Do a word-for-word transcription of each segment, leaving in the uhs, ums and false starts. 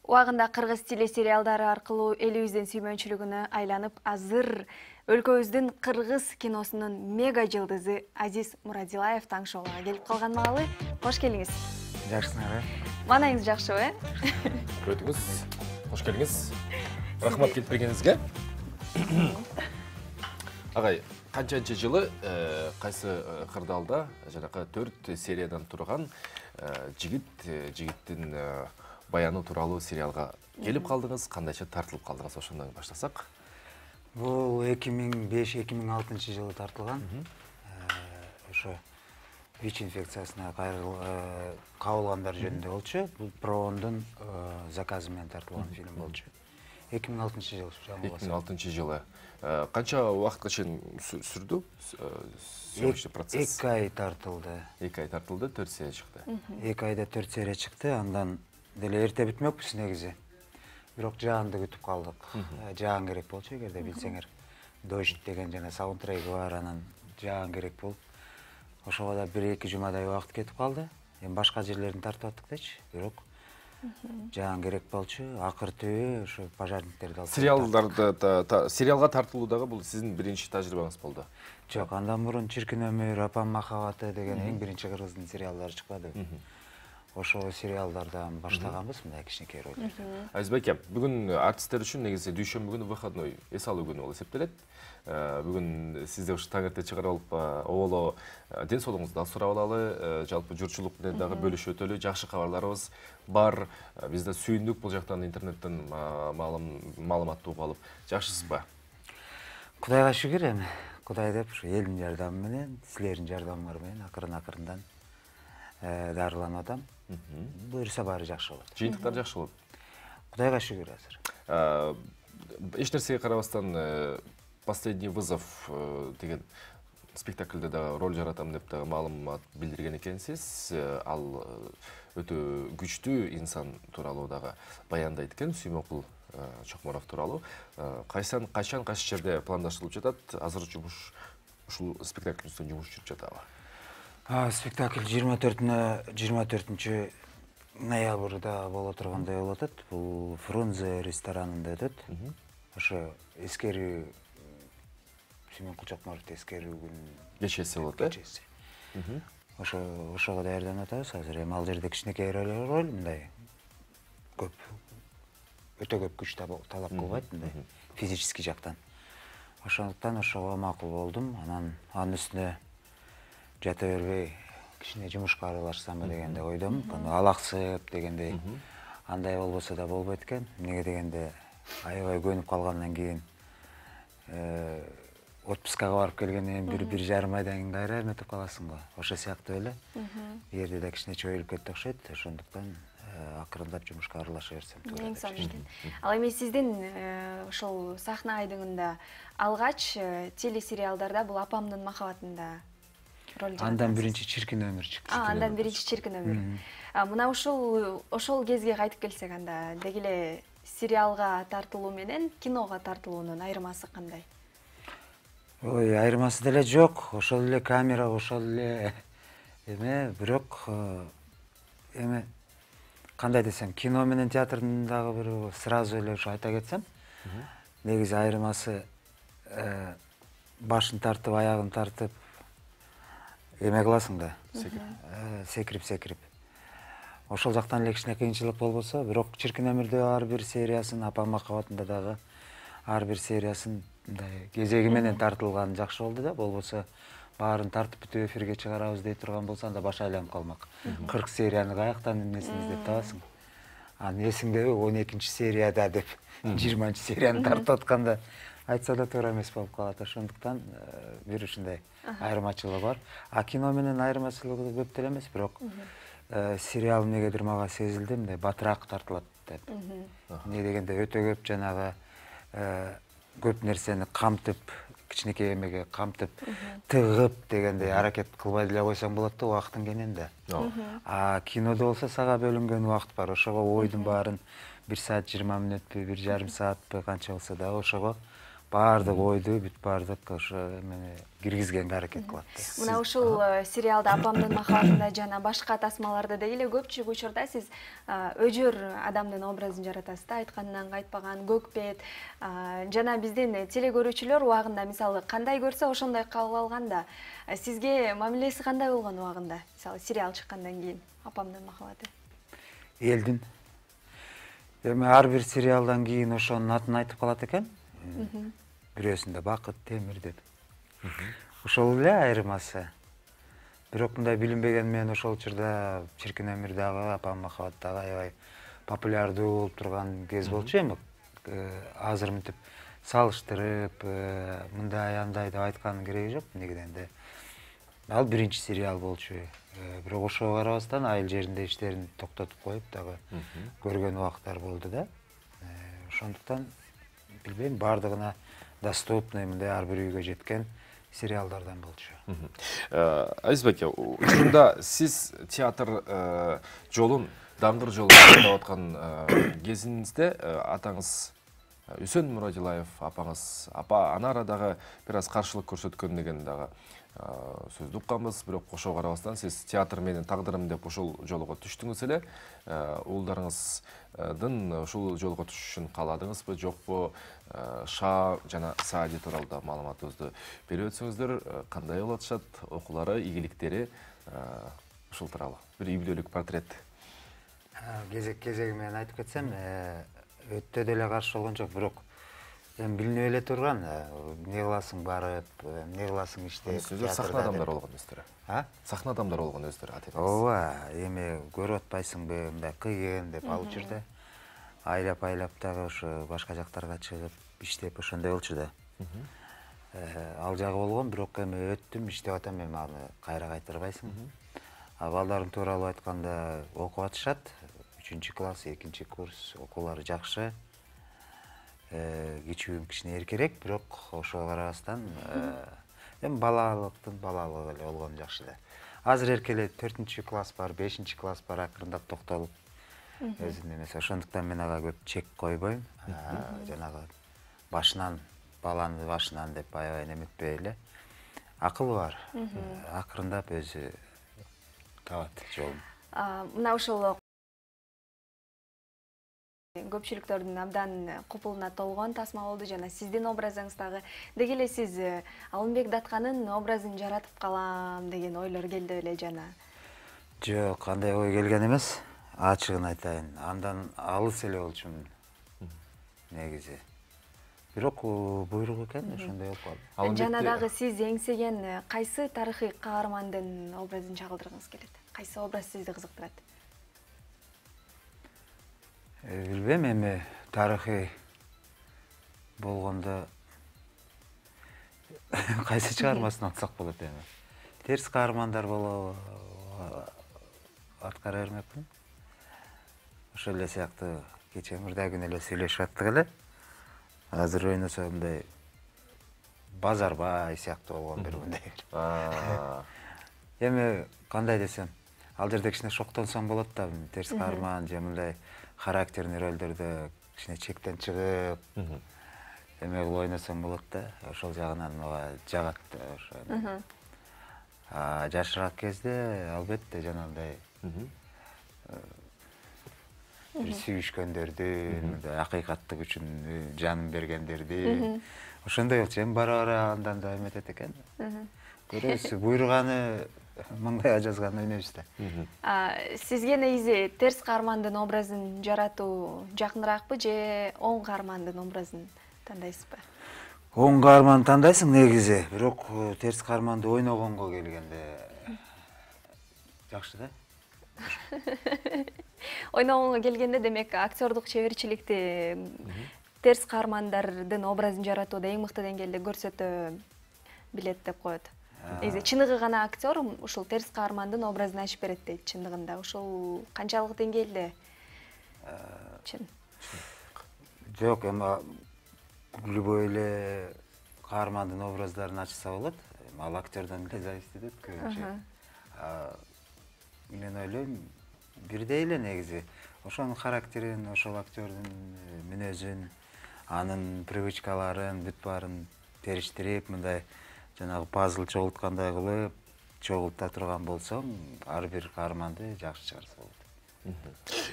Убагында кыргыз телесериалдары аркылуу элибиздин сүймөнчүлүгүнө айланып, азыр өлкөбүздүн кыргыз киносунун мега жылдызы Азиз Мурадилаев таң шоуга келип калган маалы. Кош келиңиз. Жакшысыңар, э? Маанайыңыз жакшыбы, э? Өтүңүз. Кош келиңиз. Рахмат келип бергениңизге. Агай, канчанчы жылы кайсы кырдаалда жанакы төрт сериядан турган жигит жигиттин баяны тууралуу сериалга келип калдыңыз, кандайча тартылып калдыңыз, ошондон баштасак. Бул эки миң беш эки миң алтынчы жылы тартылган. Ошо ВИЧ инфекциясына кабылгандар жөнүндө болчу. Бул Проондун заказы менен тартылган фильм болчу. эки миң алтынчы жылы. эки миң алтынчы жылы. Канча убакытка чейин сүрдү сөйлөшүү процесс? эки ай тартылды. эки ай тартылды, төрт серия чыкты. эки айда төрт серия чыкты. Андан деле эрте бүтмөкпүз негизи. Бирок жаанды күтүп калдык. Жаан керек болчу, эгерде билсеңер. Дождь деген жана саундтреги бар, анан жаан керек болуп. Ошого да бир эки жумадай убакыт кетип калды. Эми башка жерлерин тартып аттык дечи, бирок жаан керек болчу. Акыр түбү ошо пожарниктерди алып. Сериалдарды сериалга тартылуудагы бул сиздин биринчи тажрыйбаңыз болду? Жок, андан мурун Чиркин өмүр, Апам махабаты деген эң биринчи кыргыздын сериалдары чыкпадыбы. Ошо сериалдардан баштаганбыз, мындай кичинекей ролдорду. Азиз байке, бүгүн артисттер үчүн негизи дүйшөмбү күнү выходной, эс алуу күнү болуп эсептелет. Бүгүн сизди ушу таң эрте чыгарып алып, оболо ден соолугуңузду да сурап алалы, жалпы журтчулук менен дагы бөлүшүп өтөлү. Жакшы кабарларыбыз бар. Биз да сүйүндүк бул жактан интернеттен маалыматты угуп алып. Жакшысызбы? Кудайга шүгүр эми. Кудай деп ушу элдин жардамы менен, силердин жардамыңар менен акырын-акырындан дарыланып атам. Буюрса баары жакшы болот. Жыйынтыктар жакшы болот. Кудайга шүгүр азыр. Эч нерсеге карабастан «Последний вызов» деген спектакльде да роль жаратам деп да маалымат билдирген экенсиз. Ал өтө күчтүү инсан тууралуу дагы баяндайт экен, Сүймөнкул Чокморов тууралуу. Кайсан, качан, кайсы жерде пландаштырылып жатат? Азыр жумуш ушул спектакль үстүнөн жумуш жүрүп жатабы? Спектакль жыйырма төртүнчү ноябрда боло тургандай болуп атат. Бул Фрунзе ресторанында өтөт. Ошо эскерүү Сүймөнкул Чокморовду эскерүү күнү кечеси болот, э? Кечеси. Ошо ошого даярданып атабыз. Азыр эми ал жерде кичинекей роль, мындай көп өтө көп күч талап кылбайт, мындай физический жактан. Ошондуктан ошого макул болдум. Анан анын үстүнө жата бербей кичине жумушка аралашсамбы дегенде ойдом. Алаксып дегендей. Андай болбосо да болбойт экен. Эмнеге дегенде аябай көнүп калгандан кийин отпускага барып келгенден кийин бир жарым айдан кийин кайра эметип каласың го. Ошо сыяктуу эле. Бу жерде да кичине чоюлуп кетти окшойт. Ошондуктан акырындап жумушка аралаша берсем туура. Эң сонун экен. Ал эми сиздин ошол сахна айдыңында алгач телесериалдарда бул Апамдын махабатында роль жараттыңыз. Андан биринчи Чиркин өмүр чыкты. Андан биринчи Чиркин өмүр. Мына ушул ошол кезге кайтып келсек, анда деги эле сериалга тартылуу менен киного тартылуунун айырмасы кандай? Ой, айырмасы деле жок. Ошол эле камера, ошол эле эме, бирок эме кандай десем, кино менен театрдын дагы бир сразу эле ушу айта кетсем, негизи айырмасы башын тартып, аягын тартып эме кыласың да, секирип-секирип. Ошол жактан эле кичине кыйынчылык болбосо, бирок Чиркин өмүрдө ар бир сериясын, Апам махабатында дагы ар бир сериясын мындай кезеги менен тартылган жакшы болду да, болбосо баарын тартып бүтүп эфирге чыгарабыз дей турган болсо, анда баш айланып калмак. кырк серияны каяктан эмнесин издеп табасың? Анын эсиңдеби он экинчи серияда деп жыйырманчы серияны тартып атканда айтса да туура эмес болуп калат. Ошондуктан бир ушундай айырмачылыгы бар. А кино менен айырмачылыгы көп деле эмес, бирок сериал эмнегедир мага сезилди, мындай батыраак тартылат деп. Эмне дегенде өтө көп жанагы көп нерсени камтып, кичинекей эмеге камтып, тыгып дегендей аракет кылбай деле койсоң болот да убакыттын кененде. А кинодо болсо сага бөлүнгөн убакыт бар. Ошого ойдун баарын бир саат жыйырма мүнөтпү, бир жарым саатпы канча болсо да ошого баардык ойду бүт баардык ошо эмени киргизгенге аракет кылат. Мына ушул сериалда Апамдын махабатында жана башка тасмаларда деги эле көпчүлүк учурда сиз өжөр адамдын образын жаратасыз да, айтканынан кайтпаган, көкпет. Жана биздин телекөрүүчүлөр убагында мисалы кандай көрсө ошондой кабыл алганда, сизге мамилеси кандай болгон убагында? Мисалы сериал чыккандан кийин Апамдын махабаты. Элдин эми ар бир сериалдан кийин ошонун атын айтып калат экен. Бирөөсүндө Бакыт Темир деп. Ошол эле айырмасы. Бирок мындай билинбеген менен ошол учурда Чиркин өмүр дагы, Апам махабат дагы аябай популярдуу болуп турган кез болчу эми. Азыр мынтип салыштырып, мындай андай деп айтканын кереги жок. Негеденде ал биринчи сериал болчу. Бирок ошого карабастан айыл жеринде иштерин токтотуп коюп дагы көргөн убактар болду да. Ошондуктан билбейм, баардыгына доступный мындай ар бир үйгө жеткен сериалдардан болчу. Азиз байке, учурунда сиз театр жолун, даңгыр жолун тандап аткан кезиңизде атаңыз Үсөн Мурадилаев апаңыз, апа ана арадагы бир аз каршылык көрсөткөн деген дагы сөздү укканбыз, бирок ошого карабастан сиз театр менин тагдырым деп ошол жолго түштүңүз эле. Уулдарыңыздын ушул жолго түшүшүн кааладыңызбы, жокпу? Ша жана Саади тууралуу маалыматыңызды берип өтсөңүздөр, кандай болуп атышат, окуулары, ийгиликтери, ушул тууралуу бир үй бүлөлүк портрет. Кезек-кезеги менен айтып кетсем, өтө деле каршы болгон жок, бирок эми билинип эле турган, эмне кыласың барып, эмне кыласың иштеп. Сиздер сахна адамдары болгон өздөрү. А? Сахна адамдары болгон өздөрү атып. Ооба, эми көрүп атпайсыңбы, мындай кыйын деп ал учурда айлап-айлап дагы ошо башка жактарга чыгып, иштеп ошондой болчу да. Ал жагы болгон, бирок эми өттүм, иштеп атам, эми аны кайра кайтарбайсың. А балдарым тууралуу айтканда окуп атышат, үчүнчү класс, экинчи курс, окуулары жакшы. Кичүүм кичине эркерээк, бирок ошого карабастан эми балалыктын балалыгы эле болгон жакшы да. Азыр эркелеп төртүнчү класс бар, бешинчи класс бар, акырындап токтолуп өзүнүн эмеси. Ошондуктан мен ага көп чек койбойм. Жанагы башынан, баланы башынан деп аябай неметпей эле. Акылы бар. Акырындап өзү табат жолун. Мына ошол көпчүлүктөрдүн абдан купулуна толгон тасма болду, жана сиздин образыңыз дагы. Деги эле сиз Алымбек Датканын образын жаратып калам деген ойлор келди эле жана? Жок, кандай ой келген эмес. Ачыгын айтайын, андан алыс эле болчумун негизи. Бирок буйрук экен, ошондой болуп калды. Жана дагы сиз эңсеген кайсы тарыхый каармандын образын чагылдыргыңыз келет? Кайсы образ сизди кызыктырат? Билбейм, эми тарыхый болгондо кайсы чыгармасын атсак болот эми. Терс каармандар болобу аткара бермекмин. Ошол эле сыяктуу кече мурда күнү эле сүйлөшүп аттык эле. Азыр ойносо мындай Базарбай сыяктуу болгон бир мындай. Эми кандай десем, ал жерде кичине шоктонсоң болот да, терс каарман же мындай характерный ролдордо кичине чектен чыгып, эме кылып ойносоң болот да, ошол жагынан мага жагат ошо. А жашыраак кезде албетте жанагындай бир сүйүшкөндөрдү, акыйкаттык үчүн жанын бергендерди, ошондой болчу. Эми бара-бара андан да эметет экен. Көрөсүз, буйруганы маңдайга жазган ойнойбуз да. Сизге негизи терс каармандын образын жаратуу жакыныраакпы же оң каармандын образын тандайсызбы? Оң каарманды тандайсың негизи, бирок терс каарманды ойногонго келгенде жакшы да. Ойногонго келгенде демек актёрдук чеберчиликти терс каармандардын образын жаратууда эң мыкты деңгээлде көрсөтө билет деп коет. Негизи чыныгы гана актер ушул терс каармандын образын ачып берет дейт чындыгында. Ушул канчалык деңгээлде? Чын. Жок, эми любой эле каармандын образдарын ачса болот. Ал актердон эле зависит этет көбүнчө. Мен ойлойм, бирдей эле негизи. Ошонун характерин, ошол актердун мүнөзүн анын привычкаларын бүт баарын териштирип, мындай жанагы пазл чогулткандай кылып, чогулта турган болсоң, ар бир каарманды жакшы чыгарса болот.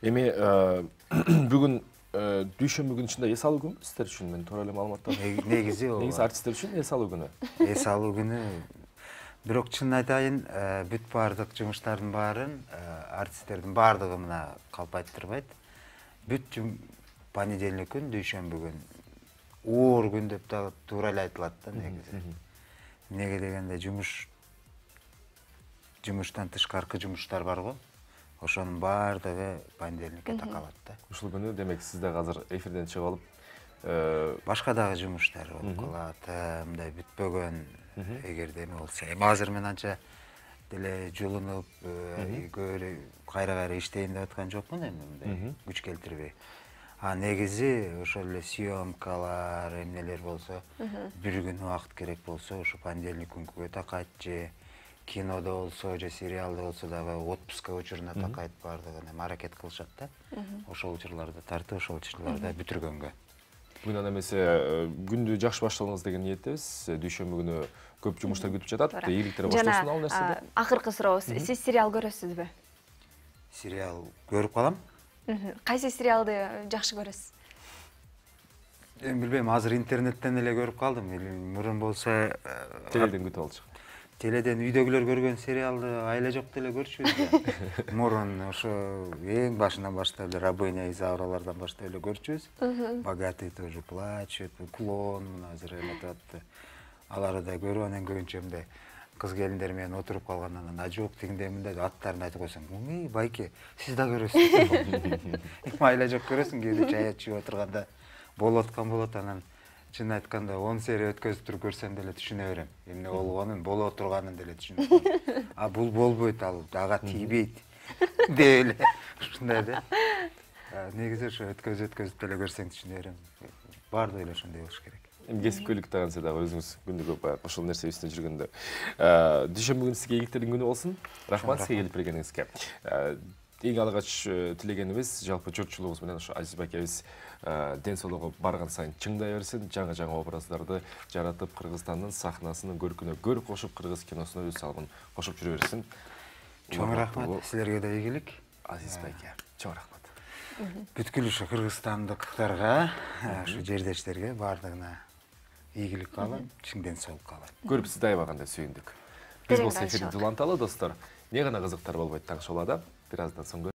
Эми бүгүн дүйшөмбү күнү ичинде эс алуу күнү сиздер үчүн, мен туура эле маалыматтар. Негизи ооба. Негизи артисттер үчүн эс алуу күнү. Эс алуу күнү. Бирок чынын айтайын, бүт баардык жумуштардын баарын артисттердин баардыгы мына калпайтырбайт. Бүт понедельник күн, дүйшөмбү күн, оор күн деп да туура эле айтылат да негизи. Эмнеге дегенде жумуш жумуштан тышкаркы жумуштар бар го. Ошонун баардыгы понедельникке такалат да. Ушул күнү демек сиз да азыр эфирден чыгып алып, башка дагы жумуштар болуп калат, мындай бүтпөгөн эгерде эме болсо. Эми азыр мен анча деле жулунуп, кайра-кайра иштейин деп аткан жокмун эми мындай күч келтирбей. А негизи ошол эле съемкалар, эмнелер болсо, бир күн убакыт керек болсо, ошо понедельник күнгө такайт же кинодо болсо, же сериалда болсо дагы отпуска учуруна такайт баардыгын эми аракет кылышат да. Ошол учурларды тартып, ошол учурларда бүтүргөнгө. Бүгүн анда эмесе күндү жакшы башталыңыз деген ниеттебиз. Дүйшөмбү күнү көп жумуштар күтүп жатат. Ийгиликтер башталсын ал нерседе. Акыркы сурообуз. Сиз сериал көрөсүзбү? Сериал көрүп калам. Кайсы сериалды жакшы көрөсүз? Эми билбейм, азыр интернеттен эле көрүп калдым. Мурун болсо теледен күтүп алчу. Теледен үйдөгүлөр көргөн сериалды айла жок деле көрчүбүз. Мурун ошо эң башынан баштап эле Рабыня Изауралардан баштап эле көрчүбүз. Богатые тоже плачут, Клон мына азыр эметип атты. Аларды да көрүп анан көбүнчө мындай кыз келиндер менен отуруп калгандан анан ажок тигиндей мындай аттарын айтып койсоң, "Ой, байке, сиз да көрөсүз." Эми айла жок көрөсүң, кээде чай ичип отурганда болуп аткан болот, анан чын айтканда он серия өткөзүп туруп көрсөм деле түшүнө берем. Эмне болгонун, боло турганын деле түшүнөм. А бул болбойт, ал ага тийбейт деп эле ушундай да. Негизи ошо өткөзүп өткөзүп деле көрсөң түшүнө берем. Баардыгы эле ошондой болуш керек. Эми кесипкөйлүк дагы дагы өзүңүз күндү көп баягы ошол нерсе үстүнө жүргөндө. Дүйшөмбү күнү сизге ийгиликтердин күнү болсун. Рахмат сизге келип бергениңизге. Эң алгач тилегенибиз жалпы журтчулугубуз менен ошо Азиз байкебиз ден соолугу барган сайын чыңдай берсин, жаңы-жаңы образдарды жаратып, Кыргызстандын сахнасынын көркүнө көр кошуп, кыргыз киносуна өз салымын кошуп жүрө берсин. Чоң рахмат, силерге да ийгилик. Азиз байке, чоң рахмат. Бүткүл ушу кыргызстандыктарга, ушу жердештерге баардыгына ийгилик каалайм, чың ден соолук каалайм. Көрүп сизди аябагандай сүйүндүк. Биз болсо эфирди уланталы достор. Эмне гана кызыктар болбойт таң шолада. Бир аздан соң